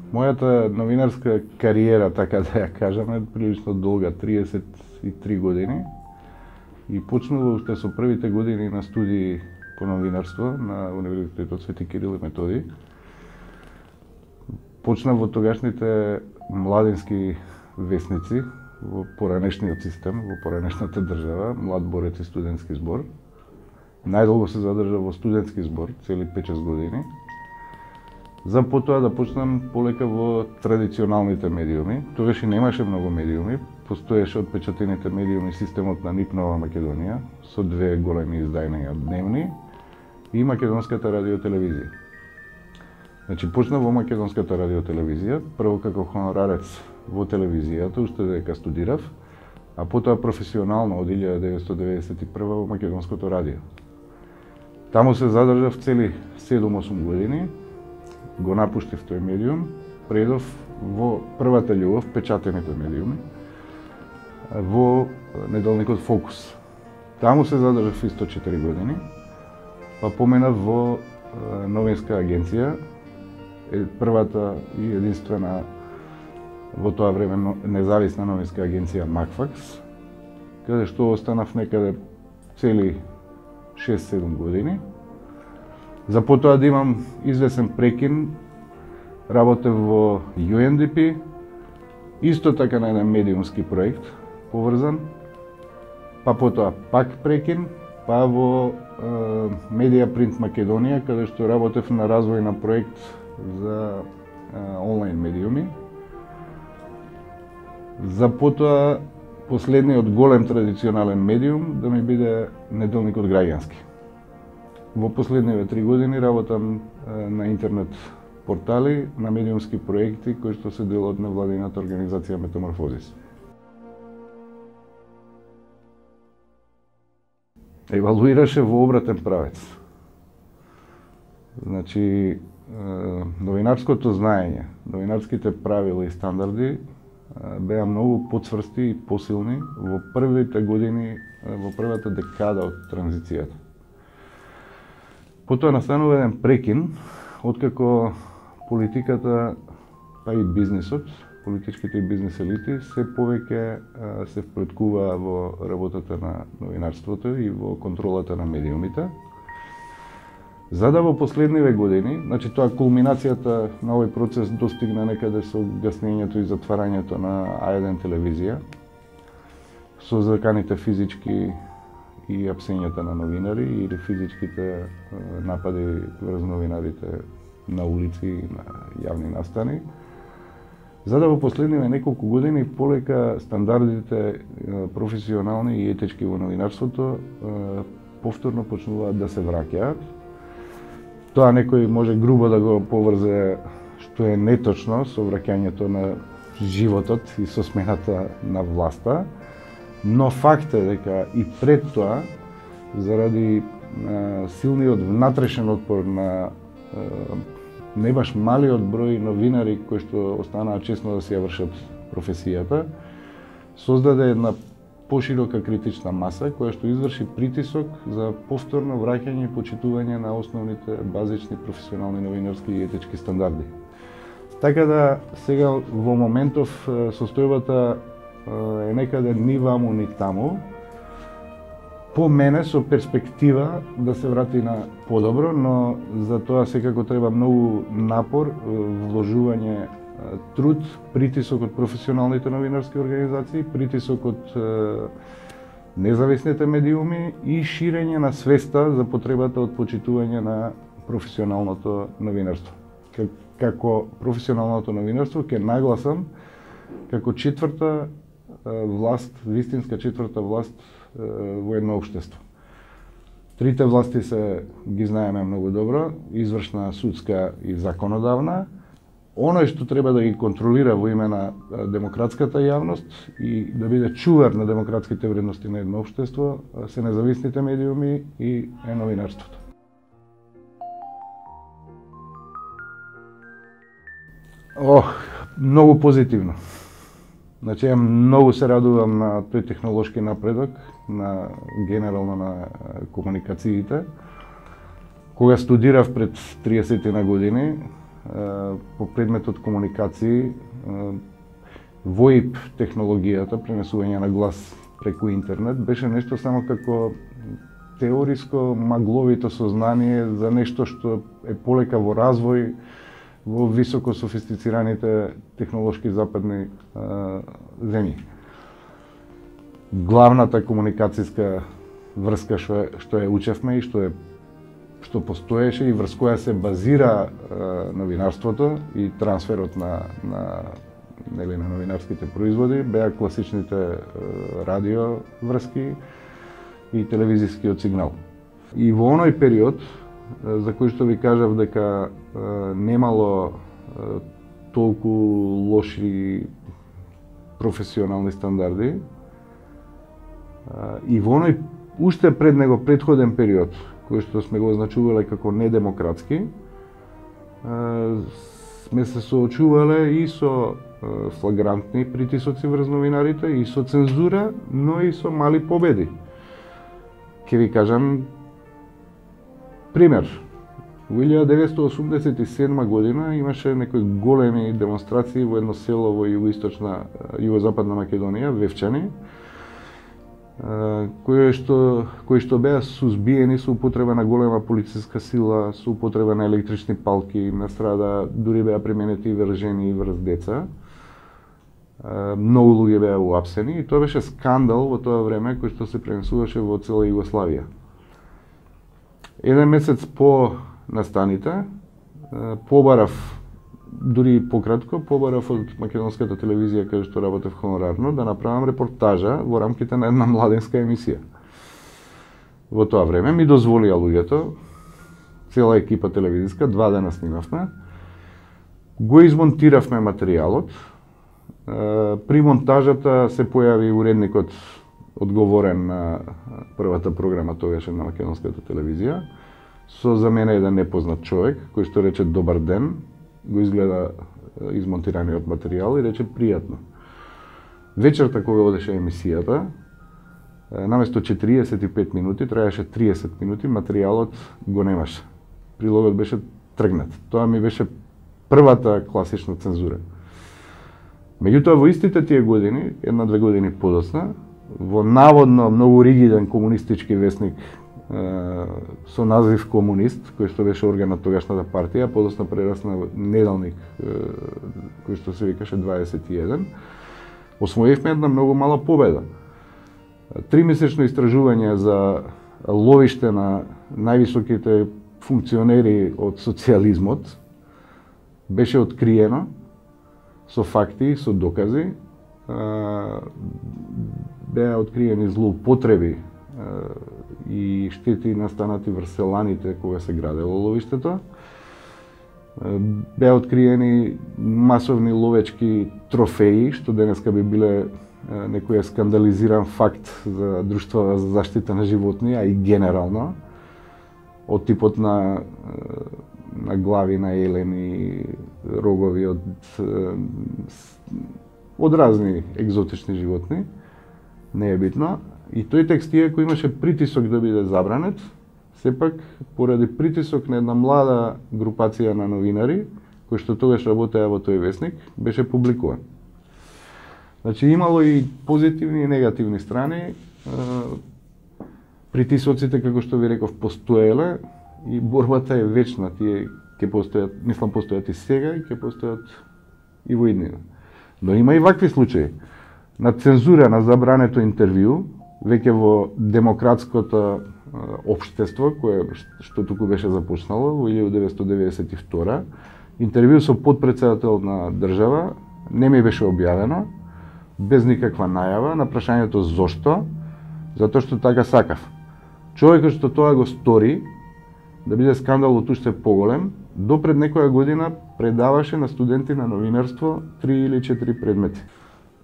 Мојата новинарска кариера, така да ја кажаме, прилично долга, 33 години. И почнува уште со првите години на студии по новинарство на Универзитетот Свети Кирил и Методи. Почнав во тогашните младински весници во поранешниот систем, во поранешната држава, Млад борец и студентски збор. Најдолго се задржав во студентски збор, цели 5-6 години. За потоа да почнам полека во традиционалните медиуми. Тогаш и немаше многу медиуми, постоеше отпечатените медиуми системот на НИП Нова Македонија со две големи издања дневни и Македонската радиотелевизија. Значи почнав во Македонската радиотелевизија, прво како хонорарец во телевизијата, уште дека студирав, а потоа професионално од 1991 во Македонското радио. Таму се задржав цели 7-8 години, го напуштив тој медиум, предов во првата љубов, печатените медиуми, во неделникот Фокус. Таму се задржав исто 4 години, па поменав во новинска агенција, првата и единствена во тоа време независна новинска агенција Макфакс, каде што останав некаде цели 6-7 години. За потоа да имам извесен прекин, работев во UNDP, исто така на еден медиумски проект поврзан, па потоа пак прекин, па во Медија Принт Македонија, каде што работев на развој на проект за онлайн медиуми. За потоа последниот голем традиционален медиум да ми биде неделникот Граѓански. Во последниве 3 години работам на интернет портали, на медиумски проекти кои што се дел од невладината организација Метаморфозис. Евалуираше во обратен правец. Значи, новинарското знаење, новинарските правила и стандарди беа многу поцврсти и посилни во првите години, во првата декада од транзицијата. Потоа настанува еден прекин, откако политиката, па и бизнисот, политичките и бизнис елити се повеќе се вплеткува во работата на новинарството и во контролата на медиумите. За да во последниве години, значи тоа кулминацијата на овој процес достигна некаде со гаснењето и затварањето на А1 телевизија, со заканите физички и апсењата на новинари или физичките напади врз новинарите на улици и на јавни настани. За да во последниве неколку години полека стандардите професионални и етички во новинарството повторно почнуваат да се враќаат. Тоа некој може грубо да го поврзе, што е неточно со враќањето на животот и со смената на власта, но факт е дека и пред тоа, заради силниот внатрешен отпор на не баш малиот број новинари кои што останаа честно да си ја вршат професијата, создаде една поширока критична маса која што изврши притисок за повторно враќање и почитување на основните базични професионални новинарски и етички стандарди. Така да сега во моментов состојбата е некаде ни ваму ни таму. По мене со перспектива да се врати на подобро, но за тоа секако треба многу напор, вложување труд, притисок од професионалните новинарски организации, притисок од независните медиуми и ширење на свеста за потребата од почитување на професионалното новинарство. Како професионалното новинарство ќе нагласам како четврта власт, вистинска четврта власт во едно општество. Трите власти се ги знаеме многу добро, извршна, судска и законодавна. Оној што треба да ги контролира во име на демократската јавност и да биде чувар на демократските вредности на едно општество се независните медиуми и новинарството. Многу позитивно. Значи, ја многу се радувам на тој технолошки напредок, на генерално на комуникациите. Кога студирав пред 30 на години, по предметот комуникации, VoIP технологијата, пренесување на глас преку интернет, беше нешто само како теориско магловито сознание за нешто што е полека во развој во високо софистицираните технолошки западни земји. Главната комуникацијска врска што ја учевме и што постоеше и врз која се базира новинарството и трансферот на новинарските производи беа класичните радио врски и телевизискиот сигнал. И во оној период, за кој што ви кажав дека немало толку лоши професионални стандарди, и во оној уште пред него претходен период, кој што сме го означувале како недемократски, сме се соочувале и со флагрантни притисоци врз новинарите, и со цензура, но и со мали победи. Ке ви кажам пример. Во 1987 година имаше некои големи демонстрации во едно село во југозападна Македонија, Вевчани, кои што беа сузбиени со употреба на голема полициска сила, со употреба на електрични палки, настрада дури беа применети и вржени врз деца. Многу луѓе беа уапсени и тоа беше скандал во тоа време кој што се пренесуваше во цела Југославија. Еден месец по настаните, побарав, дури пократко, побарав од македонската телевизија каде што работев хонорарно, да направам репортажа во рамките на една младенска емисија. Во тоа време ми дозволија луѓето, цела екипа телевизиска, 2 дена снимавме, го измонтиравме материјалот. При монтажата се појави уредникот одговорен на првата програма тогаш на македонската телевизија, со за мене еден непознат човек, кој што рече добар ден, го изгледа измонтираниот материјал и рече пријатно. Вечерта кога одеше емисијата, наместо 45 минути, траеше 30 минути, материјалот го немаше. Прилогот беше тргнат. Тоа ми беше првата класична цензура. Меѓутоа, во истите тие години, 1-2 години подоцна, во наводно многу ригиден комунистички весник со назив Комунист, кој што беше орган на тогашната партија, подоцна прерасна во неделник кој што се викаше 21, освоивме една многу мала победа. 3-месечно истражување за ловиште на највисоките функционери од социјализмот беше откриено со факти, со докази, беа откриени злоупотреби и штети настанати врз селаните кога се градело ловиштето. Беа откриени масовни ловечки трофеи, што денеска би биле некој скандализиран факт за друштва за заштита на животни, а и генерално, од типот на глави на елени, рогови од разни екзотични животни, не е битно. И тој текст, иако имаше притисок да биде забранет, сепак, поради притисок на една млада групација на новинари, кои што тогаш работеа во тој весник, беше публикуван. Значи, имало и позитивни и негативни страни. Притисоците, како што ви реков, постоеле и борбата е вечна. Тие ќе постојат, мислам, постојат и сега и ќе постојат и во иднина. Но има и вакви случаи. На цензура на забрането интервју, веќе во демократското општество, кое што туку беше започнало во 1992, интервју со подпредседател на држава не ми беше објавено, без никаква најава, на прашањето зошто, затоа што така сакав. Човекот што тоа го стори, да биде скандалот уште поголем, до пред некоја година предаваше на студенти на новинарство 3 или 4 предмети.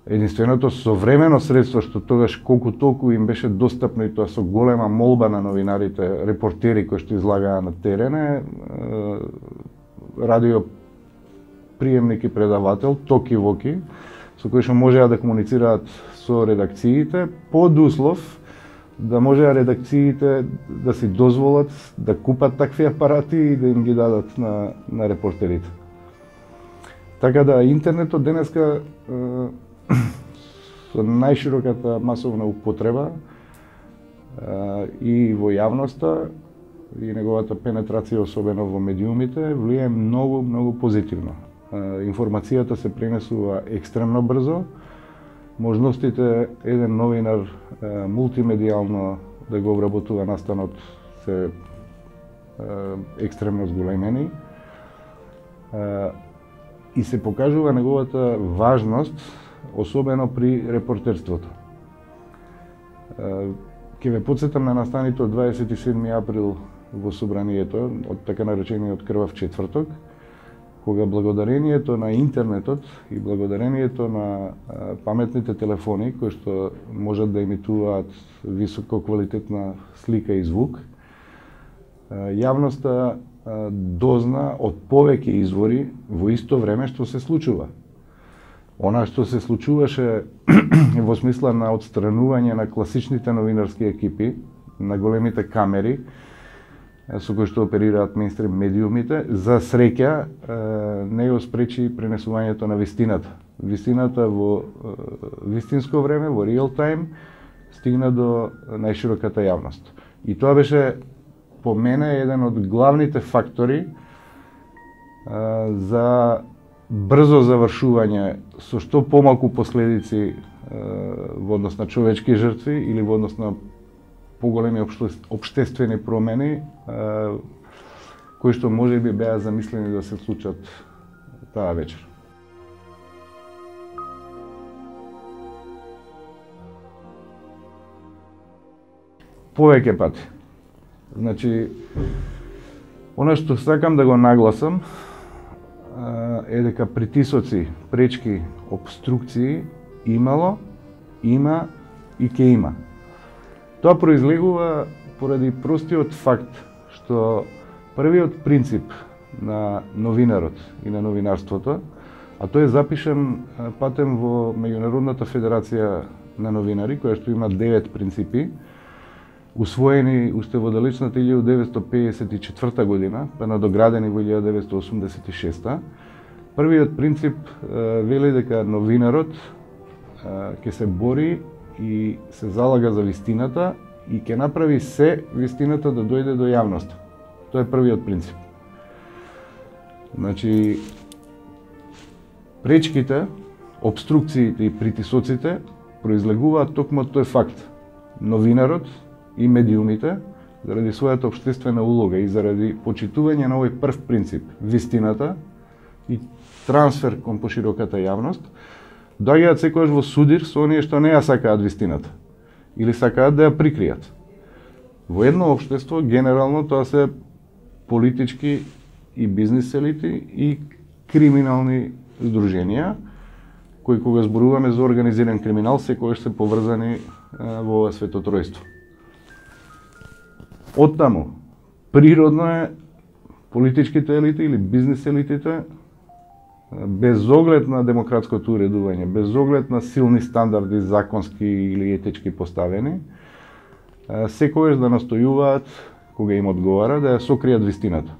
Единственото современо средство што тогаш колку толку им беше достапно, и тоа со голема молба на новинарите, репортери кои што излагаа на терен, радио приемник и предавател, токи-воки, со кои што можеа да комуницираат со редакциите, под услов да можеа редакциите да си дозволат да купат такви апарати и да им ги дадат на репортерите. Така да интернетот денеска со најшироката масовна употреба и во јавноста и неговата пенетрација, особено во медиумите, влијае многу позитивно. Информацијата се пренесува екстремно брзо, можностите еден новинар мултимедијално да го обработува настанот се екстремно зголемени и се покажува неговата важност, особено при репортерството. Ќе ве потсетам на настаните од 27 април во собранието, од така наречениот крвав четврток, кога благодарението на интернетот и благодарението на паметните телефони, кои што можат да емитуваат високо квалитетна слика и звук, јавноста дозна од повеќе извори во исто време што се случува. Она што се случуваше во смисла на отстранување на класичните новинарски екипи, на големите камери, со кои што оперираат мејнстрим медиумите, за среќа не ја спречи пренесувањето на вистината. Вистината во вистинско време, во реал тайм, стигна до најшироката јавност. И тоа беше по мене еден од главните фактори за брзо завршување со што помалку последици во однос на човечки жртви или во однос на поголеми општествени промени кои што можеби беа замислени да се случат таа вечер. Повеќе пати. Значи, она што сакам да го нагласам е дека притисоци, пречки, обструкции имало, има и ќе има. Тоа произлегува поради простиот факт што првиот принцип на новинарот и на новинарството, а тој е запишан патем во Меѓународната федерација на новинари, која што има 9 принципи, усвоени уште во далечната 1954 година, па надоградени во 1986. Првиот принцип вели дека новинарот ќе се бори и се залага за вистината и ќе направи се вистината да дојде до јавноста. Тоа е првиот принцип. Значи, пречките, обструкциите и притисоците произлегуваат токму од тој факт. Новинарот и медиумите, заради својата општествена улога и заради почитување на овој прв принцип, вистината и трансфер кон пошироката јавност, доаѓаат секогаш во судир со оние што не ја сакаат вистината или сакаат да ја прикријат. Во едно општество, генерално, тоа се политички и бизнис елити и криминални здруженија, кои кога зборуваме за организиран криминал, секогаш се поврзани во ова светотројство. Оттаму, природно е политичките елити или бизнис елитите, без оглед на демократското уредување, без оглед на силни стандарди законски или етички поставени, секогаш да настојуваат, кога им одговара, да ја сокријат вистината.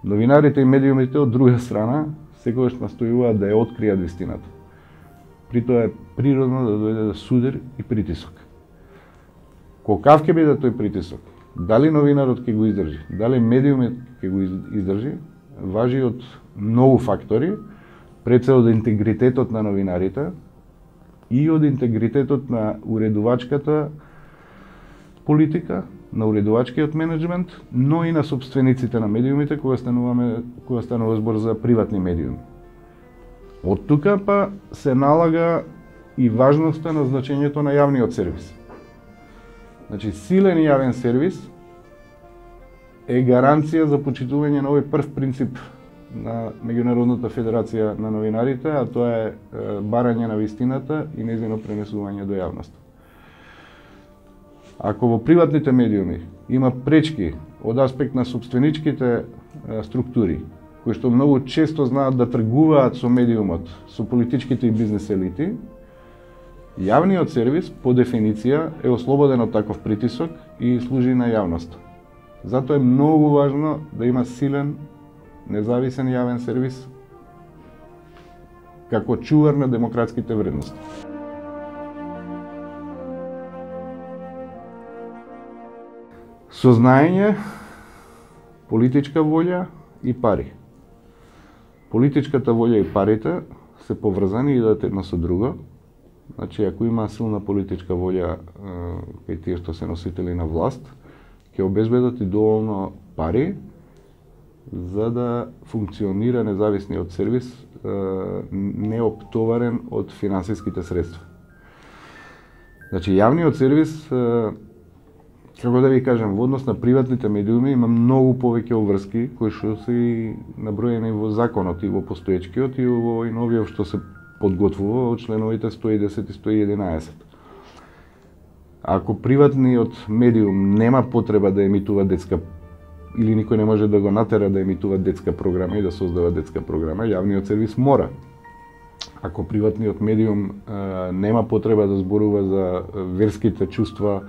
Новинарите и медиумите од друга страна секогаш настојуваат да ја откријат вистината. При тоа е природно да дојде до судир и притисок. Колкав ќе биде тој притисок? Дали новинарот ќе го издржи, дали медиумот ќе го издржи, важи од многу фактори, пред се од интегритетот на новинарите и од интегритетот на уредувачката политика, на уредувачкиот менеджмент, но и на собствениците на медиумите кога станува збор за приватни медиуми. Од тука па се налага и важноста на значењето на јавниот сервис. Значи, силен јавен сервис е гаранција за почитување на овој прв принцип на Меѓународната федерација на новинарите, а тоа е барање на вистината и нејзино пренесување до јавноста. Ако во приватните медиуми има пречки од аспект на собственичките структури, кои што многу често знаат да тргуваат со медиумот, со политичките и бизнес елити, јавниот сервис, по дефиниција, е ослободен од таков притисок и служи на јавноста. Затоа е многу важно да има силен, независен јавен сервис како чувар на демократските вредности. Сознаење, политичка волја и пари. Политичката волја и парите се поврзани и идат едно со друго. Значи, ако има силна политичка волја кај тие што се носители на власт, ќе обезбедат и доволно пари за да функционира независниот сервис неоптоварен од финансиските средства. Значи, јавниот сервис, како да ви кажам, во однос на приватните медиуми има многу повеќе обврски кои што се наброени во законот и во постоечкиот и во новиот што се подготвува од членовите 110 и 111. Ако приватниот медиум нема потреба да емитува детска или никој не може да го натера да емитува детска програма и да создава детска програма, јавниот сервис мора. Ако приватниот медиум нема потреба да зборува за верските чувства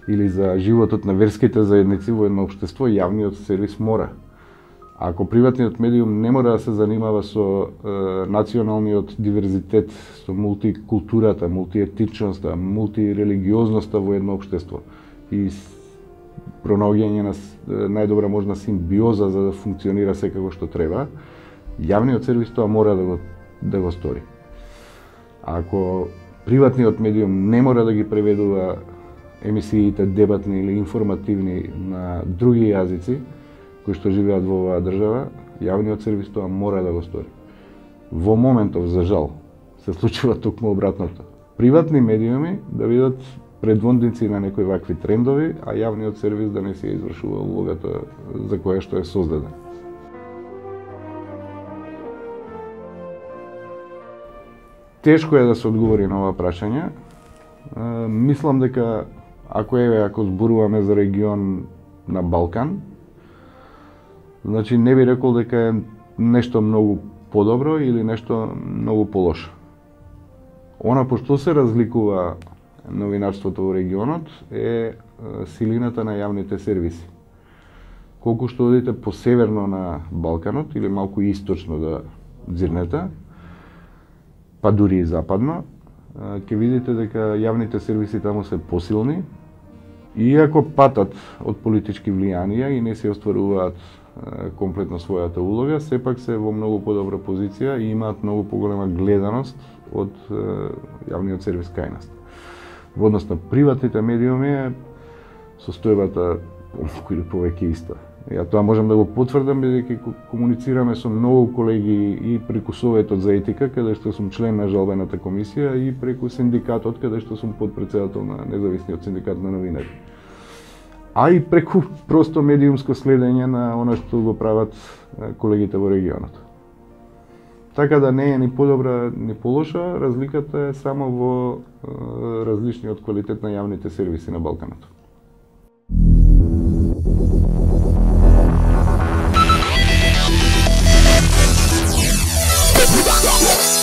или за животот на верските заедници во едно општество, јавниот сервис мора. Ако приватниот медиум не мора да се занимава со националниот диверзитет, со мултикултурата, мултиетичноста, мултирелигиозноста во едно општество и пронаоѓање на најдобра можна симбиоза за да функционира секако што треба, јавниот сервис тоа мора да го стори. Ако приватниот медиум не мора да ги преведува емисиите дебатни или информативни на други јазици кои што живеат во оваа држава, јавниот сервис тоа мора да го стори. Во моментов, за жал, се случува токму обратното. Приватни медиуми да бидат предводници на некои вакви трендови, а јавниот сервис да не се извршува улогата за која што е создаден. Тешко е да се одговори на ова прашање. Мислам дека ако зборуваме за регион на Балкан, значи не би рекол дека е нешто многу подобро или нешто многу полошо. Она по што се разликува новинарството во регионот е силината на јавните сервиси. Колку што одите по северно на Балканот или малку источно да дзирнете, па дури и западно, ќе видите дека јавните сервиси таму се посилни, иако патат од политички влијанија и не се остваруваат комплетно својата улога, сепак се во многу подобра позиција и имаат многу поголема гледаност од јавниот сервис кај нас. Во однос на приватните медиуми состојбата помалку или повеќе иста. Ја тоа можам да го потврдам бидејќи комуницираме со многу колеги и преку Советот за етика, каде што сум член на жалбената комисија, и преку синдикатот, каде што сум подпредседател на независниот синдикат на новинари. А и преку просто медиумско следење на она што го прават колегите во регионот. Така да не е ни подобра ни полоша, разликата е само во различниот квалитет на јавните сервиси на Балканот. Yeah.